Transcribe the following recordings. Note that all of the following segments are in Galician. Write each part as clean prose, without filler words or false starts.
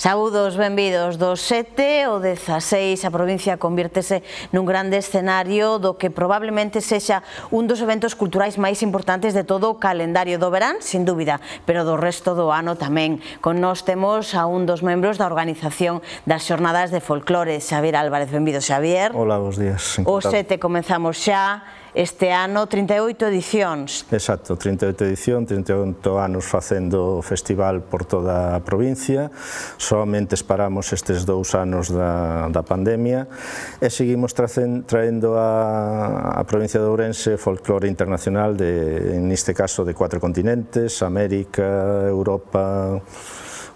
Saúdos, benvidos. Do 7 ao 16 a provincia convírtese nun grande escenario do que probablemente sexa un dos eventos culturais máis importantes de todo o calendario do verán, sin dúbida, pero do resto do ano tamén. Con nós temos a un dos membros da organización das xornadas de folclore, Xavier Álvarez. Benvido, Xavier. Hola, bons días. O 7 comenzamos xa. Este ano 38 edicións. Exacto, 38 edición, 38 anos facendo o festival por toda a provincia. Solamente esperamos estes 2 anos da pandemia e seguimos traendo a provincia de Ourense folclore internacional, neste caso de 4 continentes: América, Europa,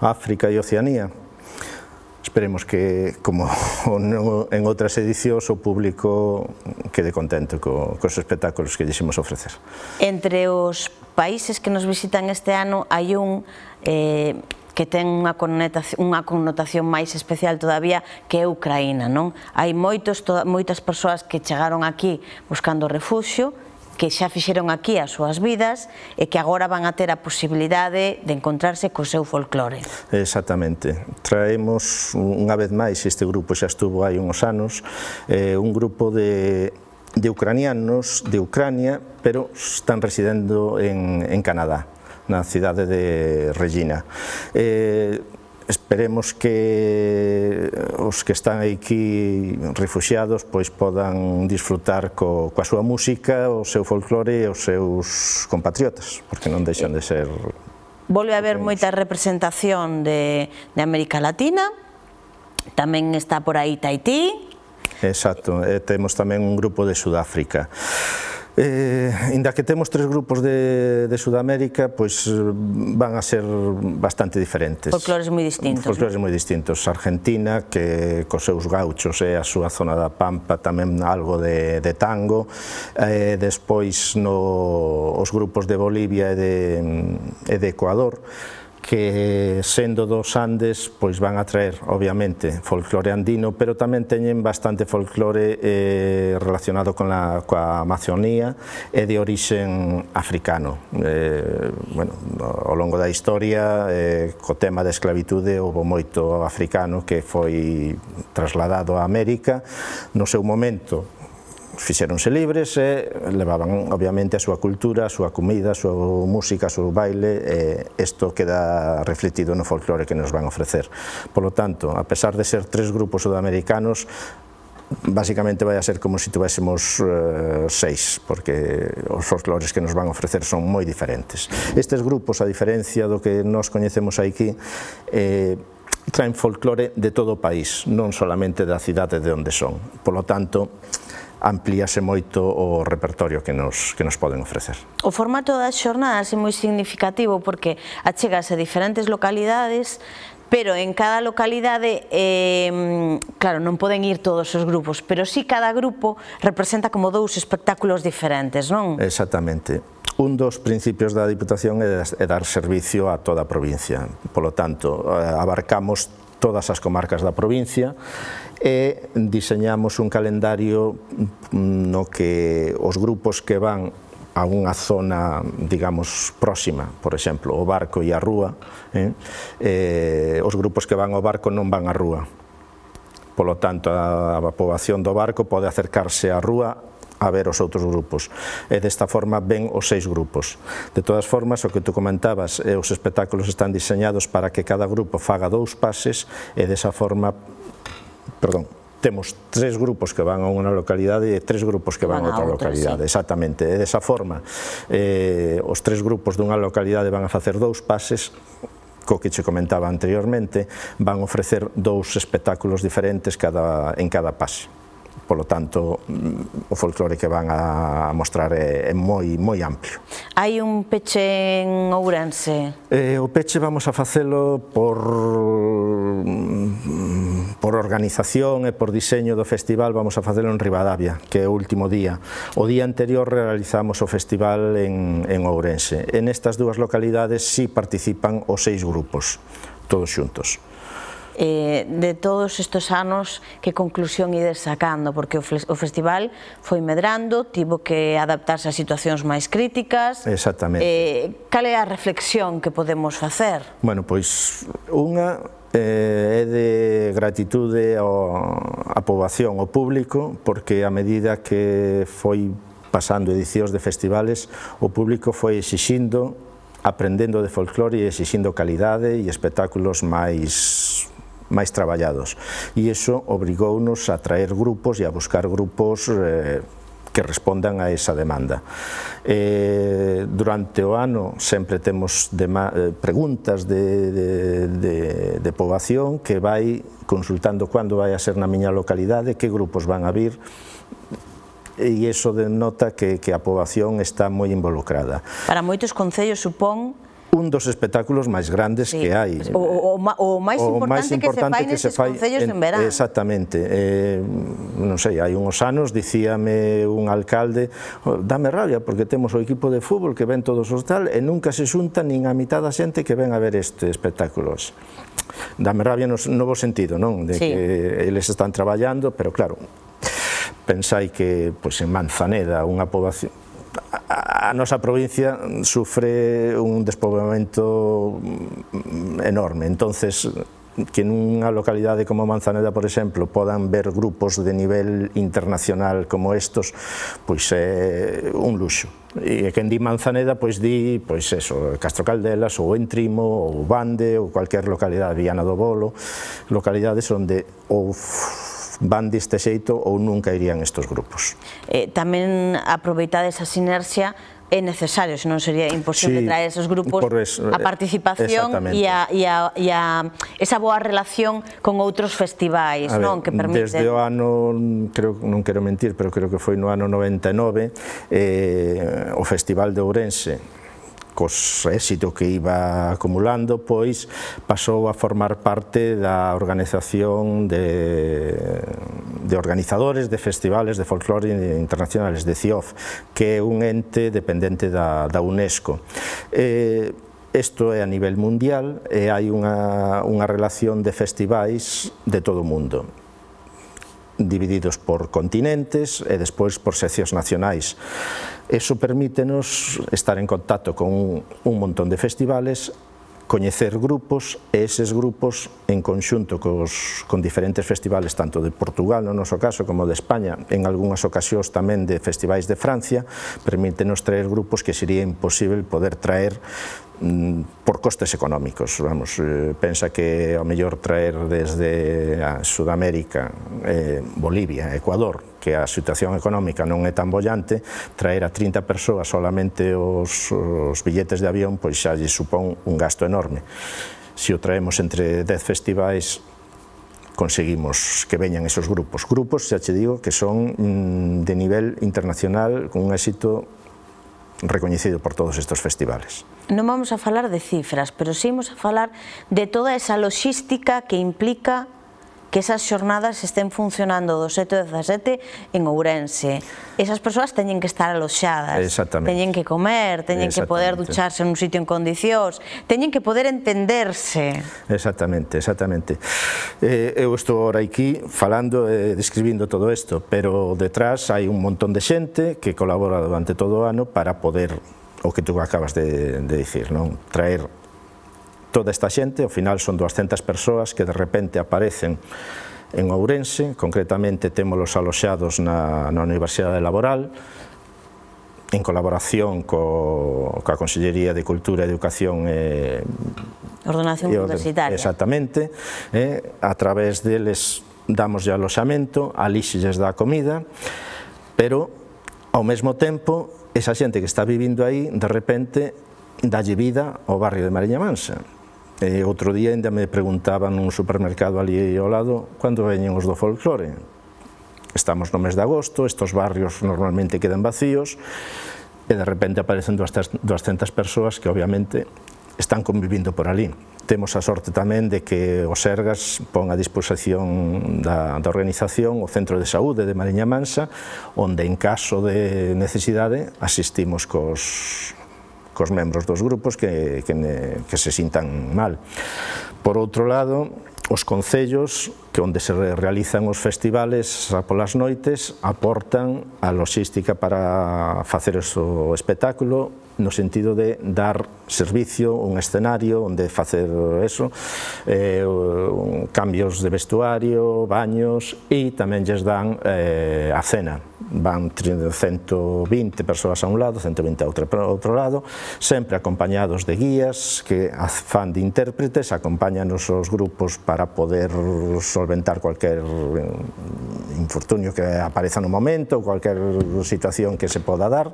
África e Oceanía. Esperemos que, como en outras edicións, o público quede contento cos espectáculos que lles imos ofrecer. Entre os países que nos visitan este ano hai un que ten unha connotación máis especial todavía, que é Ucraína, non? Hai moitas persoas que chegaron aquí buscando refugio, que xa fixeron aquí as súas vidas e que agora van a ter a posibilidade de encontrarse co seu folclore. Exactamente. Traemos unha vez máis, este grupo xa estuvo hai uns anos, un grupo de ucranianos de Ucrania, pero están residendo en Canadá, na cidade de Regina. Esperemos que os que están aquí refuxiados pois podan disfrutar coa súa música, o seu folclore e os seus compatriotas, porque non deixan de ser... Volve a haber moita representación de América Latina, tamén está por aí Tahití. Exacto, temos tamén un grupo de Sudáfrica. Inda que temos 3 grupos de Sudamérica, pois van a ser bastante diferentes. Folclores moi distintos. Folclores moi distintos. Argentina, que cos seus gauchos é a súa zona da Pampa, tamén algo de tango. Despois os grupos de Bolivia e de Ecuador, que sendo dos Andes pois van a traer obviamente folclore andino, pero tamén teñen bastante folclore relacionado coa Amazonía e de orixen africano. Ao longo da historia, co tema da esclavitude, houve moito africano que foi trasladado a América. No seu momento fixeronse libres e levaban obviamente a súa cultura, a súa comida, a súa música, a súa baile, e isto queda refletido no folclore que nos van ofrecer. Por lo tanto, a pesar de ser 3 grupos sudamericanos, basicamente vai a ser como se tuvéssemos 6, porque os folclores que nos van ofrecer son moi diferentes. Estes grupos, a diferencia do que nós coñecemos aquí, traen folclore de todo o país, non solamente da cidade de onde son. Por lo tanto, amplíase moito o repertorio que nos poden ofrecer. O formato das xornadas é moi significativo porque achégase a diferentes localidades, pero en cada localidade, claro, non poden ir todos os grupos, pero sí cada grupo representa como 2 espectáculos diferentes, non? Exactamente. Un dos principios da Diputación é dar servicio a toda a provincia. Por lo tanto, abarcamos todas as comarcas da provincia e diseñamos un calendario no que os grupos que van a unha zona, digamos, próxima, por exemplo, o Barco e a Rúa, os grupos que van ao Barco non van á Rúa. Por lo tanto, a poboación do Barco pode acercarse á Rúa a ver os outros grupos, e desta forma ven os 6 grupos. De todas formas, o que tú comentabas, os espectáculos están diseñados para que cada grupo faga 2 pases, e desa forma, temos 3 grupos que van a unha localidade e 3 grupos que van a outra localidade, exactamente, e desa forma os 3 grupos dunha localidade van a facer 2 pases, co que che comentaba anteriormente, van a ofrecer 2 espectáculos diferentes en cada pase. Por lo tanto, o folclore que van a mostrar é moi amplio. Hai un peche en Ourense? O peche vamos a facelo por organización e por diseño do festival, vamos a facelo en Ribadavia, que é o último día. O día anterior realizamos o festival en Ourense. En estas 2 localidades sí participan os 6 grupos, todos xuntos. De todos estes anos, que conclusión ides sacando? Porque o festival foi medrando, tivo que adaptarse a situacións máis críticas. Exactamente. Cal é a reflexión que podemos facer? Bueno, pois unha é de gratitude á poboación, ao público, porque a medida que foi pasando edicións de festivales, o público foi exixindo, aprendendo de folclore e exixindo calidade e espectáculos máis traballados. E iso obrigounos a traer grupos e a buscar grupos que respondan a esa demanda. Durante o ano sempre temos preguntas de poboación que vai consultando cando vai a ser na miña localidade, que grupos van a vir, e iso denota que a poboación está moi involucrada. Para moitos concellos supón un dos espectáculos máis grandes que hai. O máis importante que se fai nestes concellos en verán. Exactamente. Non sei, hai uns anos dicíame un alcalde, dame rabia porque temos o equipo de fútbol que ven todos os tal e nunca se xunta nin a mitad da xente que ven a ver este espectáculo. Dame rabia no bo sentido, non? De que eles están traballando, pero claro, pensai que en Manzaneda unha poboación, a nosa provincia sufre un despoboamento enorme, entonces que nunha localidade como Manzaneda, por exemplo, podan ver grupos de nivel internacional como estos, pois é un luxo. E quen di Manzaneda, pois di, pois eso, Castro Caldelas, ou Entrimo, ou Bande, ou cualquier localidade, Viana do Bolo, localidades onde ou van deste xeito ou nunca irían estes grupos. Tamén aproveitar esa sinerxia é necesario, senón sería imposible traer esos grupos, a participación e esa boa relación con outros festivais, non? Que permiten... Desde o ano, non quero mentir, pero creo que foi no ano 99, o Festival de Ourense, cos éxito que iba acumulando, pois pasou a formar parte da organización de organizadores de festivales de folclore internacionales, de CIOF, que é un ente dependente da UNESCO. Isto é a nivel mundial e hai unha relación de festivais de todo o mundo, divididos por continentes e despois por seccións nacionais. Iso permítenos estar en contacto con un montón de festivales, coñecer grupos e eses grupos en conxunto con diferentes festivales, tanto de Portugal no noso caso como de España, en algunhas ocasións tamén de festivais de Francia, permítenos traer grupos que sería imposible poder traer por costes económicos. Vamos, pensa que ao mellor traer desde a Sudamérica, Bolivia, Ecuador, que a situación económica non é tan bollante, traer a 30 persoas solamente os billetes de avión, pois xa lle supón un gasto enorme. Se o traemos entre 10 festivais, conseguimos que veñan esos grupos. Grupos, xa che digo, que son de nivel internacional, con un éxito recoñecido por todos estes festivales. Non vamos a falar de cifras, pero sí vamos a falar de toda esa logística que implica que esas xornadas estén funcionando do 7 ao 17 en Ourense. Esas persoas teñen que estar aloxadas, teñen que comer, teñen que poder ducharse nun sitio en condicións, teñen que poder entenderse. Exactamente, exactamente. Eu estou ahora aquí falando e describindo todo isto, pero detrás hai un montón de xente que colabora durante todo o ano para poder, o que tú acabas de dicir, non? Traer toda esta xente, ao final son 200 persoas que de repente aparecen en Ourense, concretamente témolos aloxados na Universidade Laboral, en colaboración coa Consellería de Cultura, Educación e Ordenación Universitaria. Exactamente, a través deles damos de aloxamento, alí lles dá comida, pero ao mesmo tempo esa xente que está vivindo aí, de repente, dalle vida ao barrio de Mariña Mansa. Outro día ainda me preguntaban nun supermercado ali ao lado cando veñen os do folclore. Estamos no mes de agosto, estos barrios normalmente quedan vacíos e de repente aparecen 200 persoas que obviamente están convivindo por ali. Temos a sorte tamén de que o Sergas pon a disposición da organización o Centro de Saúde de Mariña Mansa, onde en caso de necesidade asistimos cos membros dos grupos que se sintan mal. Por outro lado, os concellos que onde se realizan os festivales polas noites, aportan a logística para facer o espectáculo, no sentido de dar servicio, un escenario onde facer eso, cambios de vestuario, baños, e tamén lles dan a cena. Van 120 persoas a un lado, 120 a outro lado, sempre acompañados de guías que fan de intérpretes, acompáñanos os grupos para poder solventar cualquier infortunio que apareza no momento, cualquier situación que se poda dar.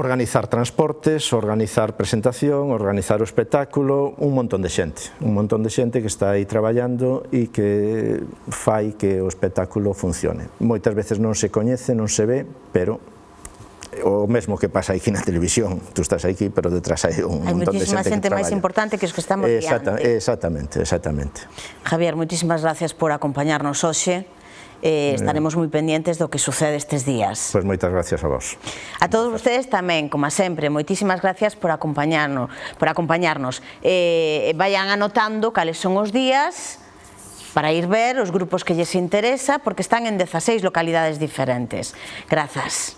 Organizar transportes, organizar presentación, organizar o espectáculo, un montón de xente que está aí traballando e que fai que o espectáculo funcione. Moitas veces non se coñece, non se ve, pero o mesmo que pasa aquí na televisión, tú estás aquí, pero detrás hai un montón de xente que traballa. Hai moitísima xente máis importante que os que estamos diante. Exactamente. Javier, moitísimas gracias por acompañarnos hoxe. Estaremos moi pendientes do que sucede estes días. Pois moitas gracias a vos. A todos vostedes tamén, como sempre, moitísimas gracias por acompañarnos. Vayan anotando cales son os días para ir ver os grupos que lles interesa, porque están en 16 localidades diferentes. Grazas.